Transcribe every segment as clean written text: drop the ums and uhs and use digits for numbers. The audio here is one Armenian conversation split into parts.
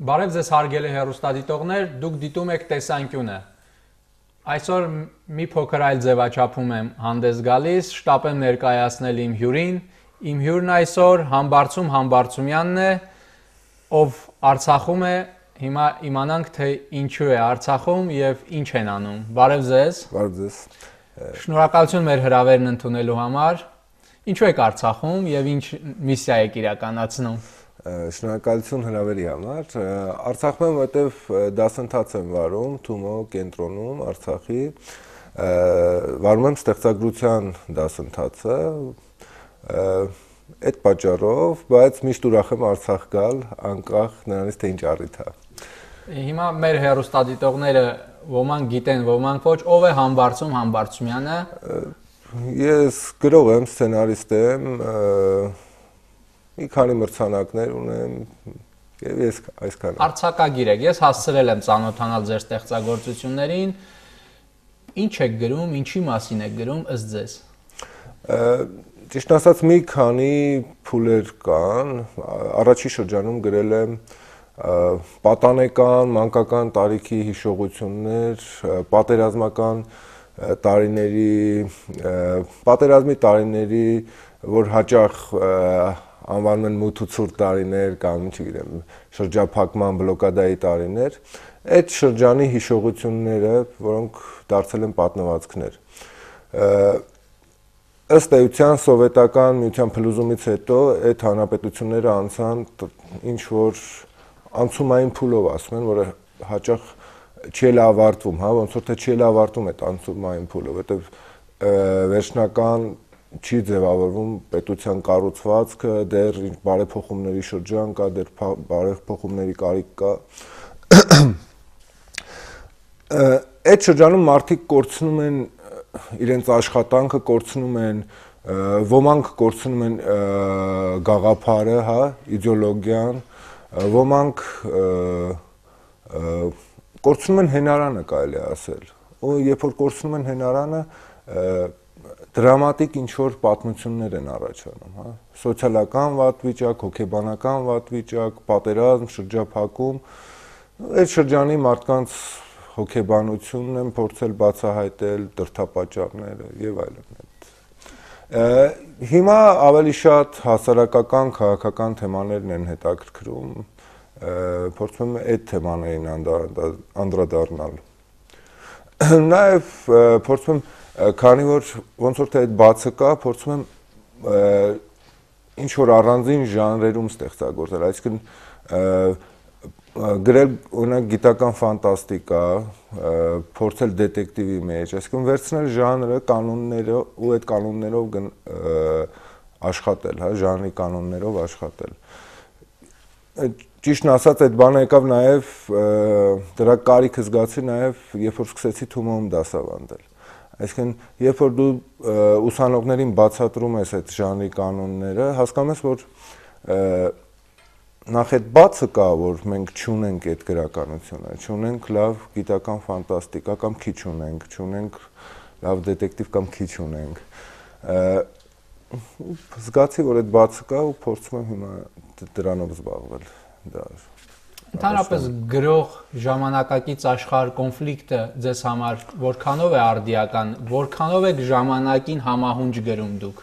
Բարև ձեզ հարգելի հեռուստադիտողներ, դուք դիտում եք տեսանկյունը։ Այսօր մի փոքր այլ ձևաչափում եմ հանդես գալիս, շտապ եմ ներկայացնել իմ հյուրին։ Իմ հյուրն այսօր Համբարձումյանն է, ով Արցախում է։ Հիմա իմանանք, թե ինչու է Արցախում եւ ինչ են անում։ Բարև ձեզ։ Բարև ձեզ։ Շնորհակալություն մեր հրավերն ընդունելու համար։ Ինչու եք Արցախում եւ ինչ միսիա եք իրականացնում։ Շնորհակալություն հրավերի համար։ Արցախում եմ, որտեվ դասընթաց եմ վարում Թումո կենտրոնում Արցախի։ Վարում եմ ստեղծագրության դասընթացը։ Այդ պատճառով, բայց միշտ ուրախ եմ Արցախ գալ, անկախ նրանից թե ինչ առիթ է։ Հիմա մեր հեռուստադիտողները ոմանք գիտեն, ոմանք ոչ, ով է Համբարձումյանը։ Ես գրող եմ, սցենարիստ եմ, մի քանի մրցանակներ ունեմ եւ ես այսքան։ Արցակագիր եք, ես հասցրել եմ ծանոթանալ ձեր ստեղծագործություններին։ Ինչ եք գրում, ինչի մասին եք գրում ըստ ձեզ։ Ճիշտ ասած մի քանի փուլեր կան, առաջի շրջանում գրել եմ պատանեկան, մանկական տարիքի հիշողություններ, պատերազմի տարիների, որ հաճախ անվանում են մութ ու ցուրտ տարիներ կամ, չգիտեմ, շրջափակման բլոկադայի տարիներ, այդ շրջանի հիշողությունները, որոնք դարձել են պատմվածքներ։ Ըստ էության սովետական միության փլուզումից հետո այդ հանրապետությունները անցան ինչ որ անցումային փուլով, ասում են, որը հաճախ չի էլ ավարտվում, հա, ոնց որ թե չի էլ ավարտվում այդ անցումային փուլը, որտեղ վերջնական չի ձևավորվում պետության կառուցվածքը, դեռ բարեփոխումների շրջան կա, դեռ բարեփոխումների կարիք կա։ Այդ շրջանում մարդիկ կորցնում են իրենց աշխատանքը, կորցնում են, ոմանք կորցնում են գաղափարը, հա, իդեոլոգիան, ոմանք կորցնում են հենարանը, կարելի է ասել։ Ու երբ որ կորցնում են հենարանը, դրամատիկ ինչ-որ պատմություններ են առաջանում, հա, սոցիալական վատ վիճակ, հոգեբանական վատ վիճակ, պատերազմ, շրջափակում, այդ շրջանի մարդկանց հոգեբանությունն են փորձել բացահայտել, դրդապատճառները եւ այլն։ Հիմա ավելի շատ հասարակական, քաղաքական թեմաներն են հետաքրքրում, փորձում եմ այդ թեմաներին անդրադառնալ։ Նաեւ փորձում եմ, քանի որ ոնց որ թե այդ բացը կա, փորձում եմ ինչ որ առանձին ժանրերում ստեղծագործել, այսինքն գրել օրինակ գիտական ֆանտաստիկա, փորձել դետեկտիվի մեջ, այսինքն վերցնել ժանրը, կանոնները ու այդ կանոններով աշխատել, հա, ժանրի կանոններով աշխատել։ Ճիշտն ասած, այդ բանը եկավ նաև դրա կարիքը զգացի նաև, երբ որ սկսեցի Թումոյում դասավանդել։ Այսինքն, երբ որ դու ուսանողներին բացատրում ես այդ ժանրի կանոնները, հասկանում ես, որ նախ այդ բացը կա, որ մենք չունենք այդ գրականությունը, չունենք լավ գիտական ֆանտաստիկա կամ քիչ ունենք, չունենք լավ դետեկտիվ կամ քիչ ունենք։ Զգացի, որ այդ բացը կա ու փորձում եմ հիմա դրանով զբաղվել։ Ընդհանրապես գրող ժամանակակից աշխարհ կոնֆլիկտը ձեզ համար որքանով է արդիական, որքանով եք ժամանակին համահունչ գրում դուք։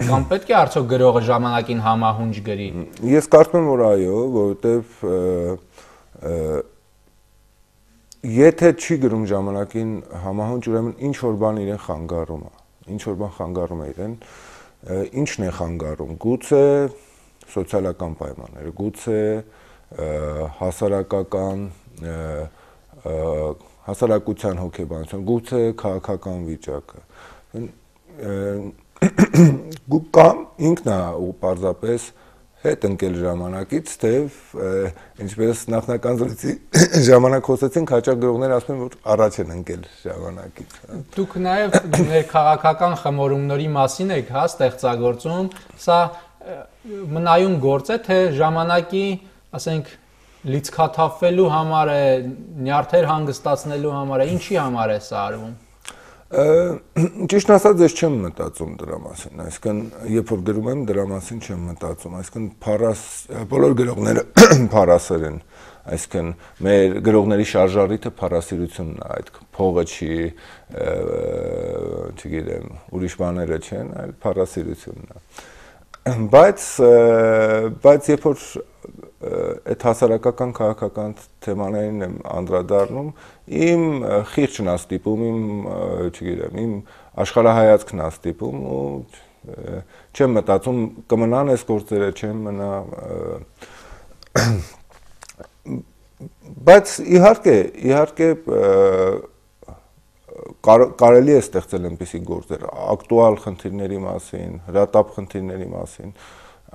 Կամ պետք է արդյոք գրողը ժամանակին համահունչ գրի։ Ես կարծում եմ, որ այո, որովհետև եթե չի գրում ժամանակին համահունչ, ուրեմն ինչ որ բան իրեն խանգարում է, ինչ որ բան խանգարում է իրեն, ինչն է խանգարում։ Գուցե սոցիալական պայմանները, գուցե հասարակության հոգեբանություն, գուցե քաղաքական վիճակը։ Կամ ինքն է ու պարզապես հետ ընկել ժամանակից, թե ինչպես նախնական զրույցի ժամանակ խոսեցինք, հաճախ գրողները ասում են, որ առաջ են ընկել ժամանակից։ Դուք նաև ներքաղաքական խմորումների մասին եք, հա, ստեղծագործում, սա մնայուն գործ է, թե ժամանակի, ասենք, լիցքաթափվելու համար է, նյարդեր հանգստացնելու համար է, ինչի համար է սա արվում։ Ճիշտ ասած, ես չեմ մտածում դրա մասին, այսինքն երբ որ գրում եմ դրա մասին չեմ մտածում, այսինքն բոլոր գրողները փառասեր են, այսինքն մեր գրողների շարժառիթը փառասիրությունն է, այդ փողը չի, չգիտեմ, ուրիշ բաները չեն, այլ փառասիրությունն է։ Բայց երբ որ այդ հասարակական քաղաքական թեմաներին եմ անդրադառնում, իմ խիղճն է ստիպում, չգիտեմ, իմ աշխարհայացքն է ստիպում ու չեմ մտածում կմնան այս գործերը, չեմ մնա, բայց իհարկե կարելի է ստեղծել այնպիսի գործեր, ակտուալ խնդիրների մասին, հրատապ խնդիրների մասին,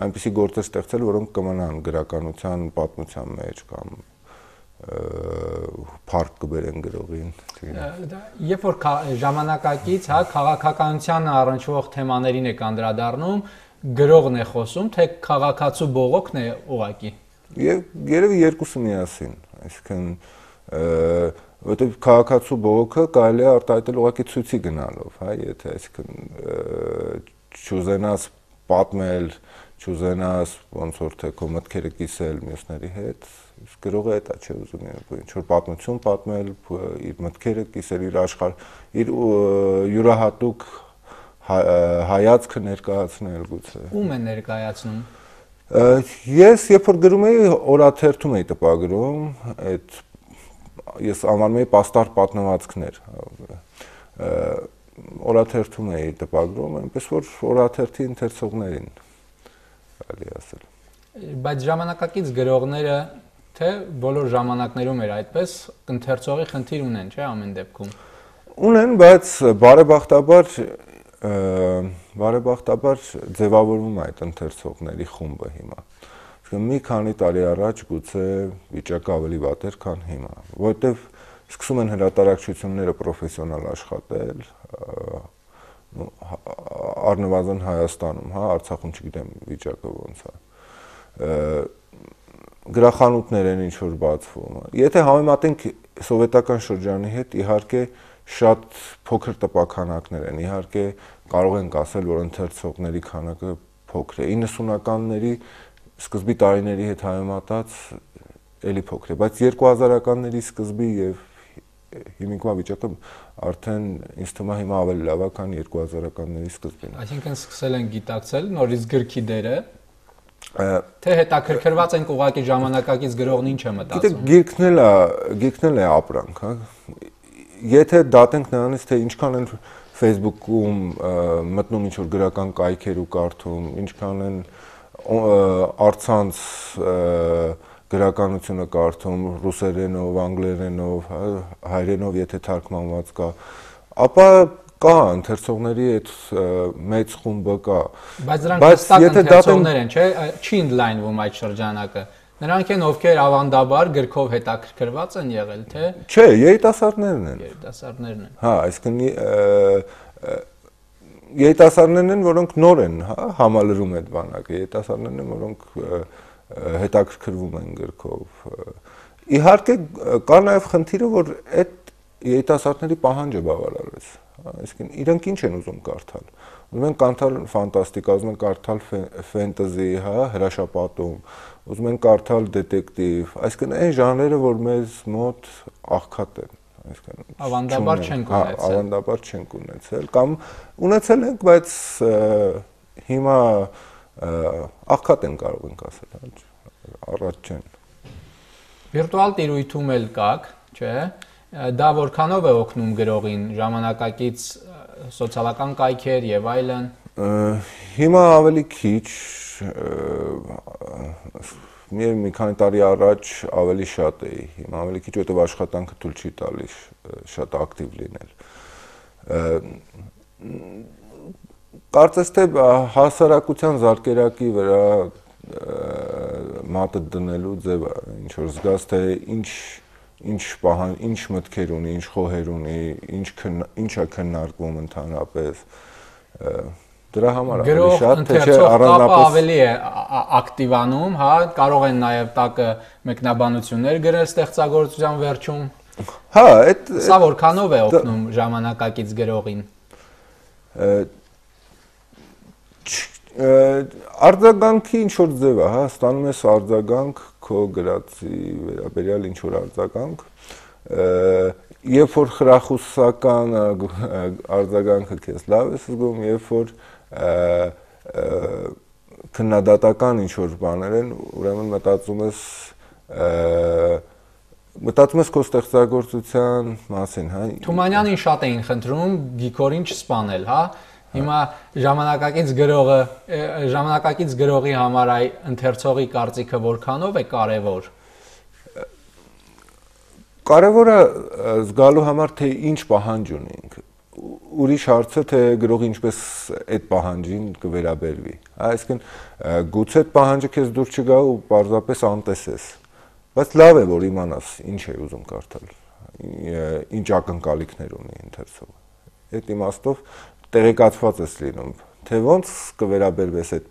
այնպիսի գործեր ստեղծել, որոնք կմնան գրականության, պատմության մեջ կամ փառք կբերեն գրողին։ Երբ որ ժամանակակից, հա, քաղաքականությանը առնչվող թեմաներին է անդրադառնում, գրողն է խոսում, թե քաղաքացու բողոքն է ուղղակի։ Երևի երկուսը միասին, այսինքն որտեղ քաղաքացու բողոքը կարելի է արտահայտել ուղղակի ցույցի գնալով, հա, եթե այսինքն չուզենաս պատմել, չուզենաս ոնց որ թե քո մտքերը կիսել մյուսների հետ, իսկ գրողը դա չէ ուզում, ինչ որ պատմություն պատմել, իր մտքերը կիսել, իր աշխարհ, իր յուրահատուկ հայացքը ներկայացնել գուցե։ Ում է ներկայացնում։ Ես երբ որ գրում էի, օրաթերթում էի տպագրում, այդ ես անվանում էի պաստառ պատմվածքներ, օրաթերթում էի տպագրում, այնպես որ օրաթերթի ընթերցողներին կարելի ասել։ Բայց ժամանակակից գրողները թե բոլոր ժամանակներում էր այդպես ընթերցողի խնդիր ունեն, չէ՞ ամեն դեպքում։ Ունեն, բայց բարեբախտաբար ձևավորվում է այդ ընթերցողների խումբը հիմա։ Մի քանի տարի առաջ գուցե վիճակը ավելի վատ էր, քան հիմա, որովհետև սկսում են հրատարակչությունները պրոֆեսիոնալ աշխատել, առնվազն Հայաստանում, հա, Արցախում չգիտեմ վիճակը ոնց է։ Գրախանութներ են ինչ որ բացվում։ Եթե համեմատենք սովետական շրջանի հետ, իհարկե շատ փոքր տպաքանակներ են, իհարկե կարող ենք ասել, որ ընթերցողների քանակը փոքր է։ 90-ականների սկզբի տարիների հետ համեմատած էլի փոքր է, բայց 2000-ականների սկզբի եւ հիմիկվա վիճակը արդեն ինձ թվում է հիմա ավելի լավ է, քան 2000-ականների սկզբին։ Այսինքն սկսել են գիտակցել նորից գրքի դերը, թե հետաքրքրված ենք ուղղակի ժամանակակից գրողն ինչ է մտածում։ Գիրքն է ապրանք, հա։ Եթե դատենք նրանից, թե ինչքան են Facebook-ում մտնում ինչ որ գրական կայքեր ու կարդում, ինչքան են առցանց գրականությունը կարդում ռուսերենով, անգլերենով, հայերենով եթե թարգմանված կա, ապա կա ընթերցողների այդ մեծ խումբը կա։ Բայց դրանք հստակ ընթերցողներ են, չէ՞, չի ընդլայնվում այդ շրջանակը։ Նրանք են, ովքեր ավանդաբար գրքով հետաքրքրված են եղել, թե։ Չէ, երիտասարդներն են։ Երիտասարդներն են։ Հա, այսինքն երիտասարդներն են, որոնք նոր են, հա, համալրում այդ բանակը, երիտասարդներն են, որոնք հետաքրքրվում են գրքով։ Իհարկե կա նաև խնդիրը, որ այդ երիտասարդների պահանջը բավարարվեց, այսինքն իրենք ինչ են ուզում կարդալ։ Ուզում են կարդալ ֆանտաստիկա, ուզում են կարդալ ֆենտեզի, հա, հրաշապատում, ուզում են կարդալ դետեկտիվ, այսինքն այն ժանրերը, որ մեզ մոտ աղքատ են, այսինքն ավանդաբար չենք ունեցել։ Ավանդաբար չենք ունեցել, կամ ունեցել ենք, բայց հիմա աղքատ են կարող ենք ասել, առաջ չեն։ Վիրտուալ տիրույթում էլ կաք, չէ՞։ Դա որքանով է օգնում գրողին ժամանակակից սոցիալական կայքեր եւ այլն։ Հիմա ավելի քիչ, մի քանի տարի առաջ ավելի շատ էի, հիմա ավելի քիչ, որտեղ աշխատանքը թույլ չի տալիս շատ ակտիվ լինել։ Կարծես թե հասարակության զարկերակի վրա մատը դնելու ձևը, ինչ որ զգաս թե ինչ մտքեր ունի, ինչ խոհեր ունի, ինչ է քննարկվում ընդհանրապես, դրա համար ավելի շատ, թե չէ առանձնապես ավելի է ակտիվանում, հա, կարող են նաև տակը մեկնաբանություններ գրել ստեղծագործության վերջում, Հա, այդ Սա որքանով է օգնում ժամանակակից գրողին։ Արձագանքի ինչ որ ձև է, հա, ստանում ես արձագանք քո գրածի վերաբերյալ ինչ որ արձագանք, երբ որ խրախուսական արձագանքը քեզ լավ է զգում, երբ որ քննադատական ինչ որ բաներ են, ուրեմն մտածում ես քո ստեղծագործության մասին, հա։ Թումանյանին շատ էին խնդրում Գիգորին չսպանել, հա։ Հիմա ժամանակակից գրողի համար այ ընթերցողի կարծիքը որքանով է կարևոր։ Կարևորը զգալու համար թե ինչ պահանջ ունենք։ Ուրիշ հարցը թե գրողը ինչպես այդ պահանջին կվերաբերվի։ Այսինքն գուցե այդ պահանջը քեզ դուր չգա ու պարզապես անտեսես։ Բայց լավ է որ իմանաս ինչ է ուզում կարդալ, ինչ ակնկալիքներ ունի ընթերցողը։ Այդ իմաստով տեղեկացված ես լինում, թե ոնց կվերաբերվես այդ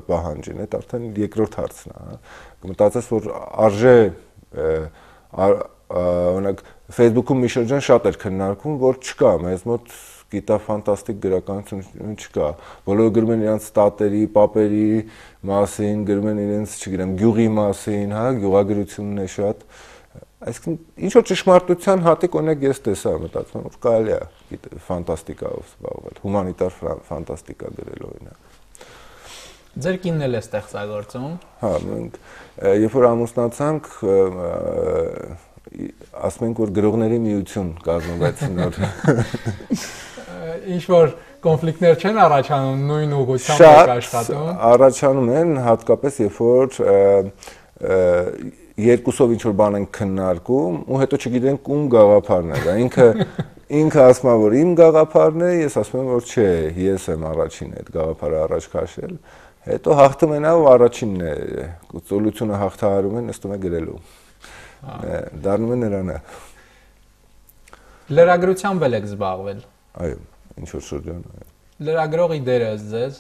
պահանջին, այդ արդեն երկրորդ հարցն է, հա։ Կմտածես, որ արժե օրինակ Facebook-ում մի շրջան շատ էր քննարկվում, որ չկա, մեզ մոտ գիտա-ֆանտաստիկ գրականություն չկա։ Բոլորը գրում են իրենց ստատերի, պապերի մասին, գրում են իրենց, չգիտեմ, գյուղի մասին, հա, գյուղագրությունն է շատ։ Այսինքն ինչ որ ճշմարտության հատիկ օրինակ ես տեսա, մտածում եմ, որ կարելի է ֆանտաստիկայով զբաղվել, հումանիտար ֆանտաստիկա գրել օրինակ։ Ձեր կինն էլ է ստեղծագործում։ Հա, մենք երբ որ ամուսնացանք, ասում ենք որ գրողների միություն կազմվեց նոր։ Ինչ որ կոնֆլիկտներ չեն առաջանում նույն ուղղությամբ եք աշխատում։ Շատ առաջանում են, հատկապես երբ որ երկուսով ինչ որ բան են քննարկում ու հետո չգիտենք ում գաղափարն է։ Ինքը ասում է որ իմ գաղափարն է, ես ասում եմ որ չէ, ես եմ առաջինը այդ գաղափարը առաջ քաշել։ Հետո հաղթում են ու առաջինն է, ծոլությունը հաղթահարում են, ըստ ունի գրելու։ Դառնում է նրանը։ Լրագրությամբ եք զբաղվել։ Այո, ինչ որ շրջան, այո։ Լրագրողի դերը ձեզ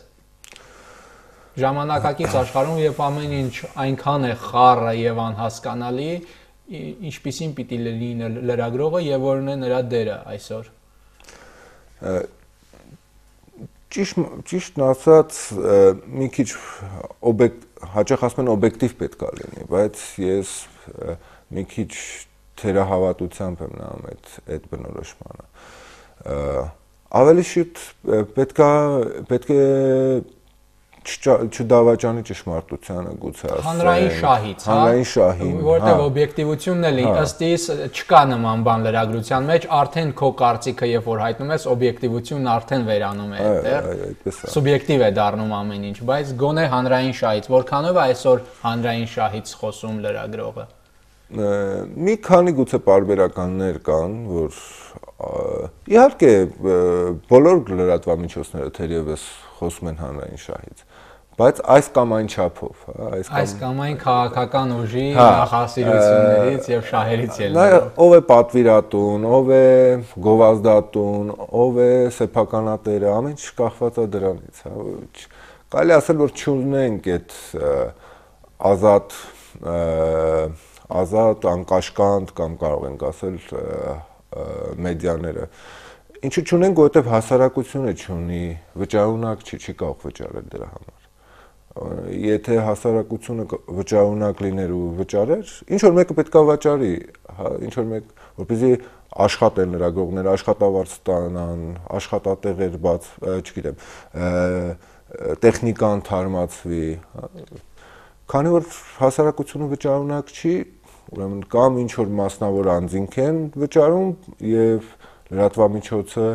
ժամանակակից աշխարհում երբ ամեն ինչ այնքան է խառը եւ անհասկանալի, ինչպիսին պիտի լինի լրագրողը եւ որն է նրա դերը այսօր։ Ճիշտն ասած, մի քիչ հաճախ ասում են օբյեկտիվ պետք է լինի, բայց ես մի քիչ թերահավատությամբ եմ նայում այդ բնորոշմանը։ Ավելի շուտ պետք է չդավաճանի ճշմարտությանը գուցե ասեմ։ Հանրային շահից, հա։ Հանրային շահին, որտեղ օբյեկտիվությունն էլ ըստ իս չկա նման բան լրագրության մեջ, արդեն քո կարծիքը երբ որ հայտնում ես, օբյեկտիվությունն արդեն վերանում է այդտեղ։ Սուբյեկտիվ է դառնում ամեն ինչ, բայց գոնե հանրային շահից, որքանով է այսօր հանրային շահից խոսում լրագրողը։ Մի քանի գուցե պարբերականներ կան, որ իհարկե բոլոր լրատվամիջոցները թերևս խոսում են հանրային շահից, բայց այս կամ այն չափով, հա, այս կամ այն քաղաքական ուժի նախասիրություններից եւ շահերից ելնելով։ Ով է պատվիրատուն, ով է գովազդատուն, ով է սեփականատերը, ամեն ինչ կախված է դրանից, հա։ Կարելի ասել, որ չունենք այդ ազատ, անկաշկանդ կամ կարող ենք ասել մեդիաները։ Ինչու չունենք, որովհետև հասարակությունը չունի, վճարունակ չի կարող վճարել դրա համար։ Եթե հասարակությունը վճարունակ լիներ ու վճարեր, ինչ որ մեկը պետք է վճարի, ինչ որ մեկ, որպեսզի աշխատեն լրագրողները, աշխատավարձ ստանան, աշխատատեղեր բաց, չգիտեմ, տեխնիկան թարմացվի։ Քանի որ հասարակությունը վճարունակ չի, ուրեմն կամ ինչ որ մասնավոր անձինք են վճարում եւ լրատվամիջոցը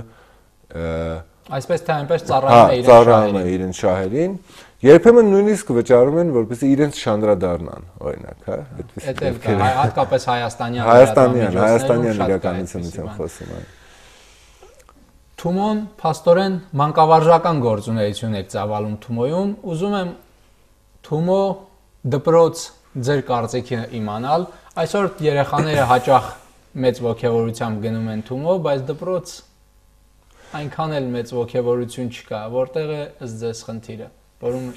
այսպես թե այնպես ծառայում է իրենց շահերին, երբեմն նույնիսկ վճարում են, որպեսզի իրենց շանդրադառնան, օրինակ, հա, այդպես կա, հատկապես հայաստանյան իրականությունից եմ խոսում, այո։ Թումոն փաստորեն մանկավարժական գործունեություն եք ծավալում Թումոյում, ուզում եմ Թումո դպրոց ձեր կարծիքը իմանալ, այսօր երեխաները հաճախ մեծ ոգևորությամբ գնում են Թումո, բայց դպրոց այնքան էլ մեծ ոգևորություն չկա, որտեղ է ըստ ձեզ խնդիրը,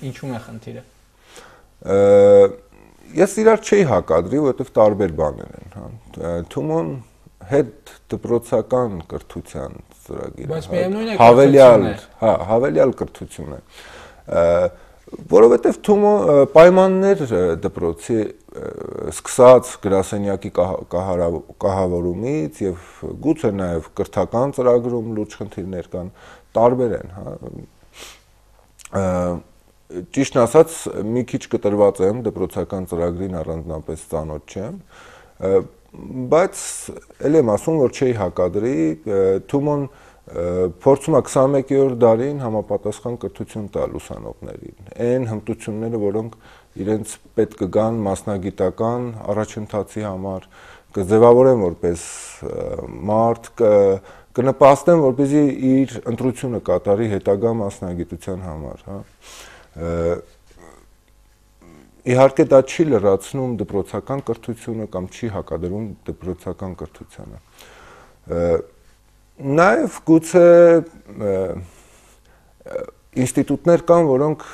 ինչու՞մ է խնդիրը։ Ես իրար չի հակադրի, որովհետև տարբեր բաներ են, հա։ Թումոն հետ դպրոցական կրթության ծրագիրը։ Բայց միևնույն է հավելյալ կրթություն է։ Որովհետև Թումո պայմաններ դպրոցի սկսած գրասենյակի կահավորումից եւ գուցե նաեւ կրթական ծրագրում լուրջ խնդիրներ կան, տարբեր են, հա։ Ճիշտն ասած, մի քիչ կտրված եմ դպրոցական ծրագրին առանձնապես ծանոթ չեմ, բայց ելի եմ ասում, որ չի հակադրի, Թումոն փորձում է 21-րդ դարին համապատասխան կրթություն տալ ուսանողներին, այն հմտությունները, որոնք իրենց պետք կգան մասնագիտական առաջընթացի համար, կձևավորեն որպես մարդ, կնպաստեն, որպեսզի իր ընտրությունը կատարի հետագա մասնագիտության համար, հա։ Իհարկե դա չի լրացնում դպրոցական կրթությունը կամ չի հակադրում դպրոցական կրթությանը։ Նաև գուցե ինստիտուտներ կան, որոնք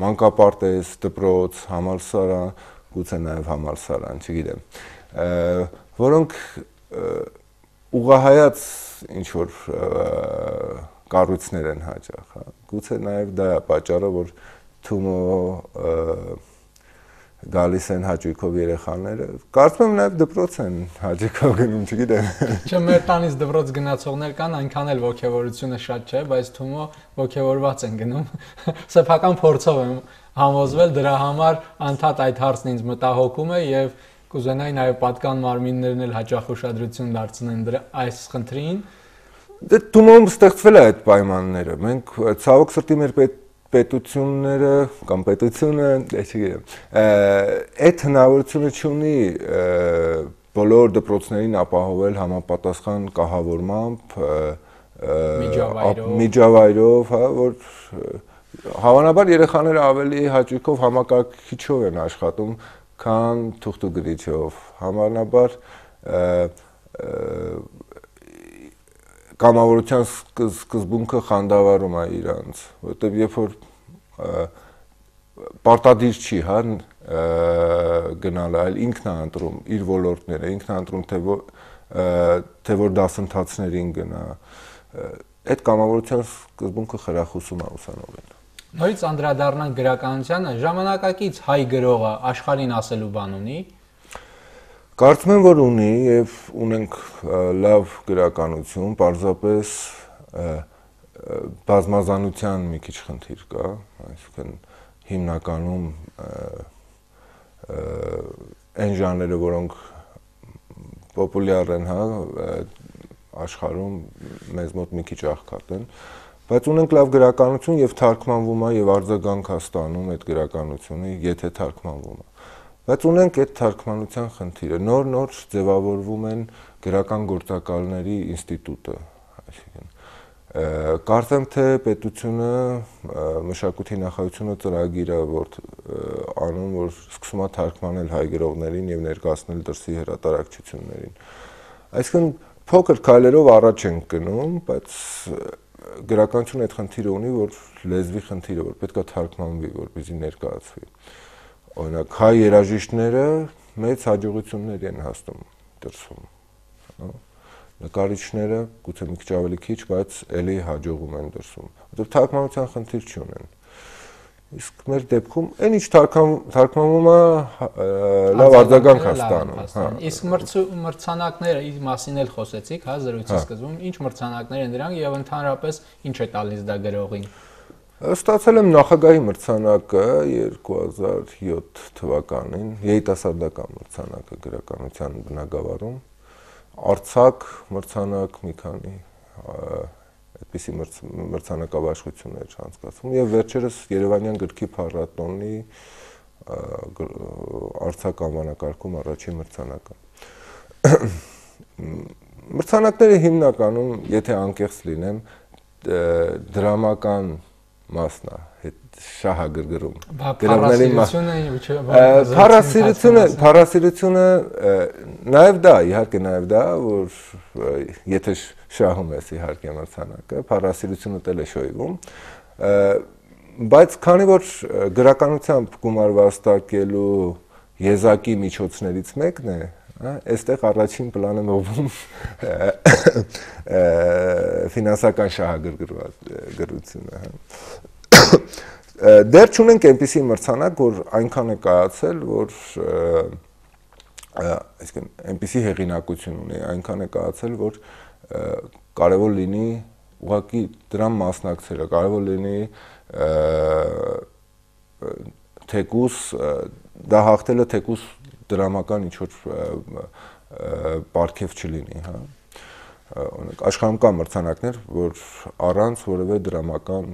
մանկապարտեզ, դպրոց, համալսարան, գուցե նաև համալսարան, չգիտեմ, որոնք ուղղահայաց ինչ-որ կառույցներ են հաճախ, հա։ Գուցե նաև դա է պատճառը, որ Թումո գալիս են հաճույքով երեխաները, կարծում եմ նաև դպրոց են հաճույքով գնում, չգիտեմ։ Չէ, մեր տանից դպրոց գնացողներ կան, այնքան էլ ոգևորությունը շատ չէ, բայց Թումո ոգևորված են գնում։ Սեփական փորձով եմ համոզվել, դրա համար անդադ այդ հարցն ինձ մտահոգում է եւ կուզենայի նաև պատկան մարմիններն էլ հաճախ ուշադրություն դարձնեն դրա այս խնդրին։ Դե Թումոում ստեղծվել է այդ պայմանները։ Մենք ցավոք սրտի մեր պետությունները կամ պետությունը, չգիտեմ, այդ հնարավորությունը չունի բոլոր դպրոցներին ապահովել համապատասխան կահավորմամբ, միջավայրով, հա, որ հավանաբար երեխաները ավելի հաճույքով համակարգիչով են աշխատում, քան թուղթուգրիչով, հավանաբար կամավորության սկզբունքը խանդավառում է իրանց, որտեղ երբ որ պարտադիր չի, հա, գնալը, այլ ինքն է ընտրում իր ոլորտները, ինքն է ընտրում թե որ դասընթացներին գնա, այդ կամավորության սկզբունքը խրախուսում է ուսանողին։ Նորից անդրադառնանք գրականությանը, ժամանակակից հայ գրողը աշխարհին ասելու բան ունի։ Կարծում եմ, որ ունի եւ ունենք լավ գրականություն, պարզապես բազմազանության մի քիչ խնդիր կա, այսինքն հիմնականում այն ժանրերը, որոնք պոպուլյար են, հա, աշխարհում մեզ մոտ մի քիչ աղքատ են, բայց ունենք լավ գրականություն եւ թարգմանվում է եւ արձագանք է ստանում այդ գրականությունը, եթե թարգմանվում է։ Բայց ունենք այդ թարգմանության խնդիրը, նոր ձևավորվում են գրական գործակալների ինստիտուտը, այսինքն կարծեմ թե պետությունը մշակույթի նախարարությունը ծրագիր է որ անում, որ սկսում է թարգմանել հայ գրողներին եւ ներկայացնել դրսի հրատարակչություններին։ Այսինքն փոքր քայլերով առաջ ենք գնում, բայց գրականությունը այդ խնդիրը ունի, որ լեզվի խնդիրը, որ պետք է թարգմանվի, որպեսզի ներկայացվի։ Օրինակ հայ երաժիշտները մեծ հաջողություններ են հասնում դրսում, հա։ Նկարիչները գուցե մի քիչ ավելի քիչ, բայց ելի հաջողում են դրսում, որտեղ թարգմանության խնդիր չունեն։ Իսկ մեր դեպքում այն ինչ թարգմանվում է լավ արձագանք է ստանում, հա։ Իսկ մրցանակները իր մասին էլ խոսեցիք, հա, զրույցի սկզբում, ինչ մրցանակներ են դրանք եւ ընդհանրապես ինչ է տալիս դա գրողին։ Ստացել եմ նախագահի մրցանակը 2007 թվականին, երիտասարդական մրցանակը գրականության բնագավառում, արձակ մրցանակ մի քանի այդպիսի մրցանակաբաշխություններ անցկացվում եւ վերջերս Երևանյան գրքի փառատոնի արձակ անվանակարգում առաջին մրցանակը։ Մրցանակները հիմնականում, եթե անկեղծ լինեմ, դրամական մասն է, շահագրգռում։ Փառասիրությունը նաև դա, իհարկե նաև դա, որ եթե շահում ես իհարկե մրցանակը, փառասիրությունը տել է շոյվում, բայց քանի որ գրականությամբ գումար վաստակելու եզակի միջոցներից մեկն է Այստեղ առաջին պլան եմ ողում ֆինանսական շահագրգռությունը, Դեռ չունենք այնպիսի մրցանակ, որ այնքան է կայացել, որ այսինքն այնպիսի հեղինակություն ունի, այնքան է կայացել, որ կարևոր լինի ուղղակի դրան մասնակցելը, կարևոր լինի թեկուս դա հաղթելը թեկուս դրամական ինչ-որ պարգև չլինի, հա։ Աշխարհում կա մրցանակներ, որ առանց որևէ դրամական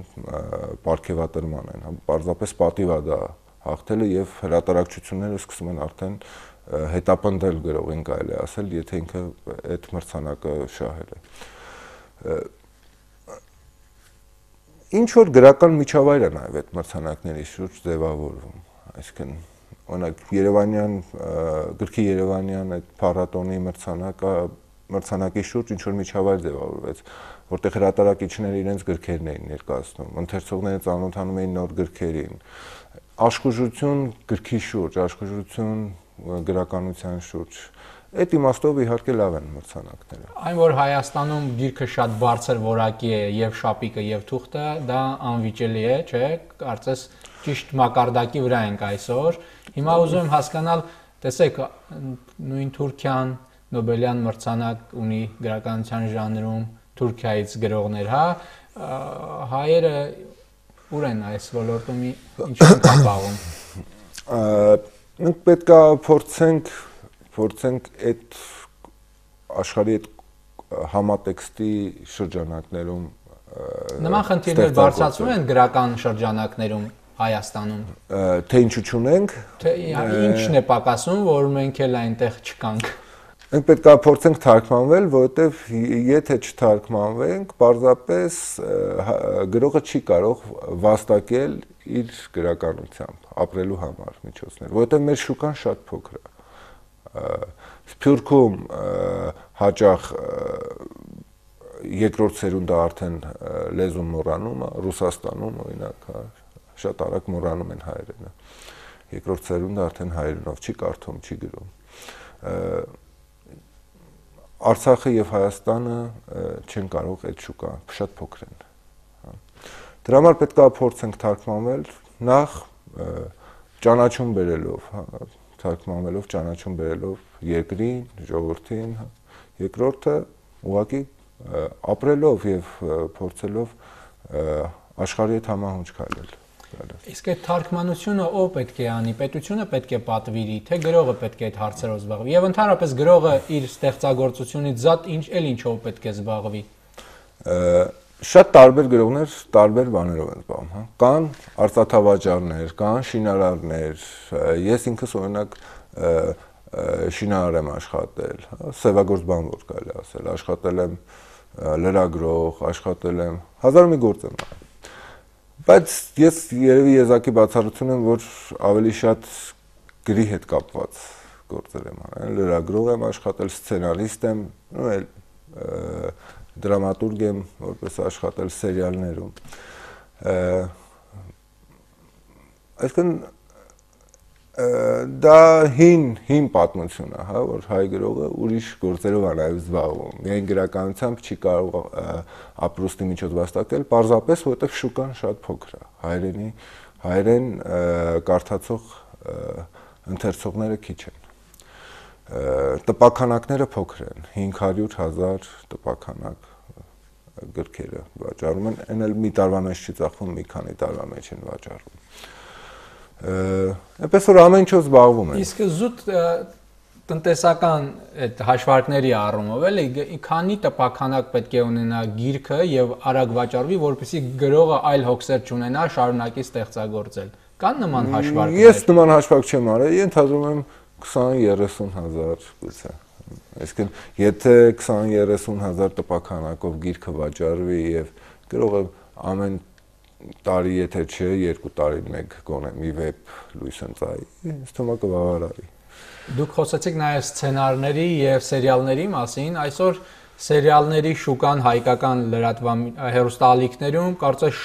պարգևատրման են, հա, պարզապես պատիվ է դա հաղթելը եւ հրատարակչությունները սկսում են արդեն հետապնդել գրողին, կարելի է ասել, եթե ինքը այդ մրցանակը շահել է։ Ինչ որ գրական միջավայր է նաև այդ մրցանակների շուրջ ձևավորվում, այսինքն օրինակ Երևանյան գրքի Երևանյան այդ փառատոնի մրցանակի շուրջ ինչ որ միջավայր ձևավորվեց, որտեղ հրատարակիչները իրենց գրքերն էին ներկայացնում, ընթերցողները ծանոթանում էին նոր գրքերին, աշխուժություն գրքի շուրջ, աշխուժություն գրականության շուրջ։ Այդ իմաստով իհարկե լավ են մրցանակները։ Այն որ Հայաստանում գիրքը շատ բարձր որակի է եւ շապիկը եւ թուղթը, դա անվիճելի է, չէ՞, կարծես ճիշտ մակարդակի վրա ենք այսօր։ Հիմա ուզում եմ հասկանալ, տեսեք, նույն Թուրքիան Նոբելյան մրցանակ ունի գրականության ժանրում, Թուրքիայից գրողներ, հա, հայերը ուր են այս ոլորտում ինչ են կապաղում։ Մենք պետք է փորձենք այդ աշխարհի այդ համատեքստի շրջանակներում նման խնդիրներ բարձրացնում են գրական շրջանակներում Հայաստանում։ Թե ինչու չունենք, թե ինչն է պակասում, որ մենք էլ այնտեղ չկանք։ Մենք պետք է փորձենք թարգմանվել, որովհետև եթե չթարգմանվենք, պարզապես գրողը չի կարող վաստակել իր գրականությամբ, ապրելու համար միջոցներ, որովհետև մեր շուկան շատ փոքր է։ Սփյուռքում հաճախ երկրորդ սերունդը արդեն լեզուն մոռանում է, Ռուսաստանում օրինակ, շատ արագ մոռանում են հայերենը։ Երկրորդ սերունդը արդեն հայերենով չի կարդում, չի գրում։ Արցախը եւ Հայաստանը չեն կարող այդ շուկա, շատ փոքր են։ Դրա համար պետք է փորձենք թարգմանվել նախ ճանաչում բերելով, թարգմանվելով, ճանաչում բերելով երկրին, ժողովրդին, երկրորդը ուղղակի ապրելով եւ փորձելով աշխարհի հետ համահունչ քայլել։ Իսկ այդ թարգմանությունը ով պետք է անի, պետությունը պետք է պատվիրի, թե գրողը պետք է այդ հարցերով զբաղվի։ Եվ ընդհանրապես գրողը իր ստեղծագործությունից զատ ինչով պետք է զբաղվի։ Շատ տարբեր գրողներ տարբեր բաներով են զբաղվում, հա։ Կան արծաթավաճառներ, կան շինարարներ, ես ինքս օրինակ շինարար եմ աշխատել, հա, սևագործ բանվոր կարելի ասել, աշխատել եմ լրագրող, աշխատել եմ, հազար մի գործ եմ արել։ Բայց ես երևի եզակի բացառություն եմ, որ ավելի շատ գրի հետ կապված գործեր եմ արել, լրագրող եմ աշխատել, սցենարիստ եմ, դրամատուրգ եմ, որպես աշխատել սերիալներում։ Այսինքն դա հին պատմություն է, հա, որ հայ գրողը ուրիշ գործերով է նաև զբաղվում։ Միայն գրականությամբ չի կարող ապրուստի միջոց վաստակել, պարզապես որովհետև շուկան շատ փոքր է։ Հայերեն կարդացող ընթերցողները քիչ են։ Տպաքանակները փոքր են, 500,000 տպաքանակ գրքերը վաճառում են, այն էլ մի տարվա մեջ չի ծախվում, մի քանի տարվա մեջ են վաճառվում։ Այնպես որ ամեն ինչով զբաղվում են։ Իսկ զուտ տնտեսական այդ հաշվարկների առումով էլի քանի տպաքանակ պետք է ունենա գիրքը եւ արագ վաճառվի, որպեսզի գրողը այլ հոգսեր չունենա, շարունակի ստեղծագործել։ Կան նման հաշվարկներ։ Ես նման հաշվարկ չեմ արել, ենթադրում եմ 20-30,000 գուցե։ Այսինքն եթե 20-30,000 տպաքանակով գիրքը վաճառվի եւ գրողը ամեն տարի եթե չէ 2 տարին մեկ գոնե մի վեբ լույս ընծայի, ինձ թվում է կբավարարի։ Դուք խոսեցիք նաև սցենարների եւ սերիալների մասին, այսօր սերիալների շուկան հայկական հեռուստաալիքներում կարծես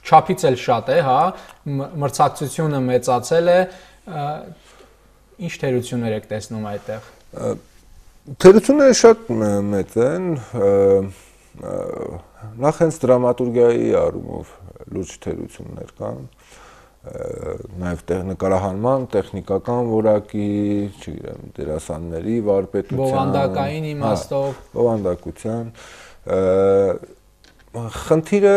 չափից էլ շատ է, հա, մրցակցությունը մեծացել է, ինչ թերություններ եք տեսնում այդտեղ։ Թերությունները շատ մեծ են, նախ հենց դրամատուրգիայի առումով լուրջ թերություններ կան, նաև նկարահանման, տեխնիկական որակի, չգիտեմ, դերասանների, վարպետության, բովանդակային իմաստով, բովանդակության, խնդիրը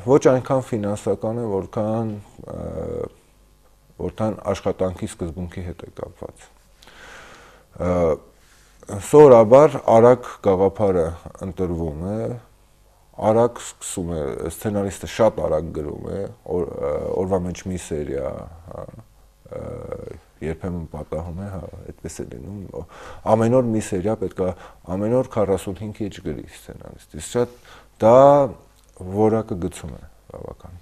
ոչ այնքան ֆինանսական է, որքան աշխատանքի սկզբունքի հետ է կապված։ Սովորաբար արագ գաղափարը ընտրվում է, արագ սկսում է, սցենարիստը շատ արագ գրում է, օրվա մեջ մի սերիա, երբեմն պատահում է, այդպես է լինում, ամեն օր մի սերիա պետք է ամեն օր 45 էջ գրի սցենարիստը, շատ դա որակը գցում է բավական։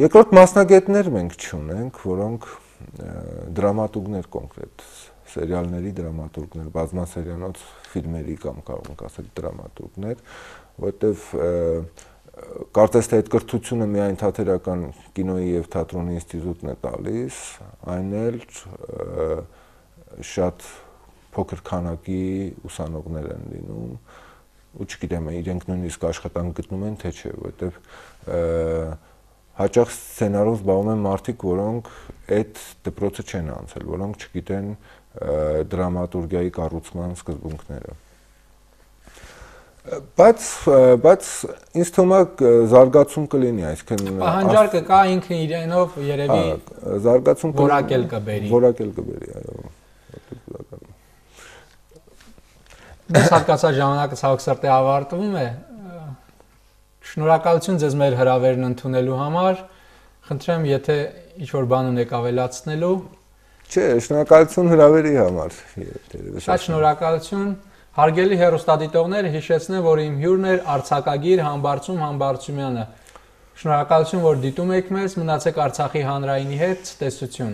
Երկրորդ մասնագետներ մենք չունենք, որոնք դրամատուրգներ կոնկրետ սերիալների դրամատուրգներ, բազմասերիանոց ֆիլմերի կամ կարող ենք ասել դրամատուրգներ, որտեվ կարծես թե այդ կրթությունը միայն թատերական կինոյի եւ թատրոնի ինստիտուտն է տալիս, այն էլ շատ փոքր քանակի ուսանողներ են լինում, ու չգիտեմ, իրենք նույնիսկ աշխատանք գտնում են, թե չէ, որտեվ հաճախ սցենարով զբաղվում են մարդիկ, որոնք այդ դպրոցը չեն անցել, որոնք չգիտեն դրամատուրգիայի կառուցման սկզբունքները։ Բայց ինձ թվում է զարգացում կլինի, այսինքն պահանջարկը կա ինքն իրենով երևի զարգացում որակել կբերի, այո։ Դες հատկացած ժամանակը ցավոք սրտի ավարտվում է։ Շնորհակալություն ձեզ մեր հրավերն ընդունելու համար։ Խնդրեմ, եթե ինչ-որ բան ունեք ավելացնելու։ Չէ, շնորհակալություն հրավերի համար։ Շատ շնորհակալություն։ Հարգելի հեռուստադիտողներ, հիշեցնեմ, որ իմ հյուրն էր արձակագիր Համբարձում Համբարձումյանը։ Շնորհակալություն, որ դիտում եք մեզ, մնացեք Արցախի հանրայինի հետ, տեսություն։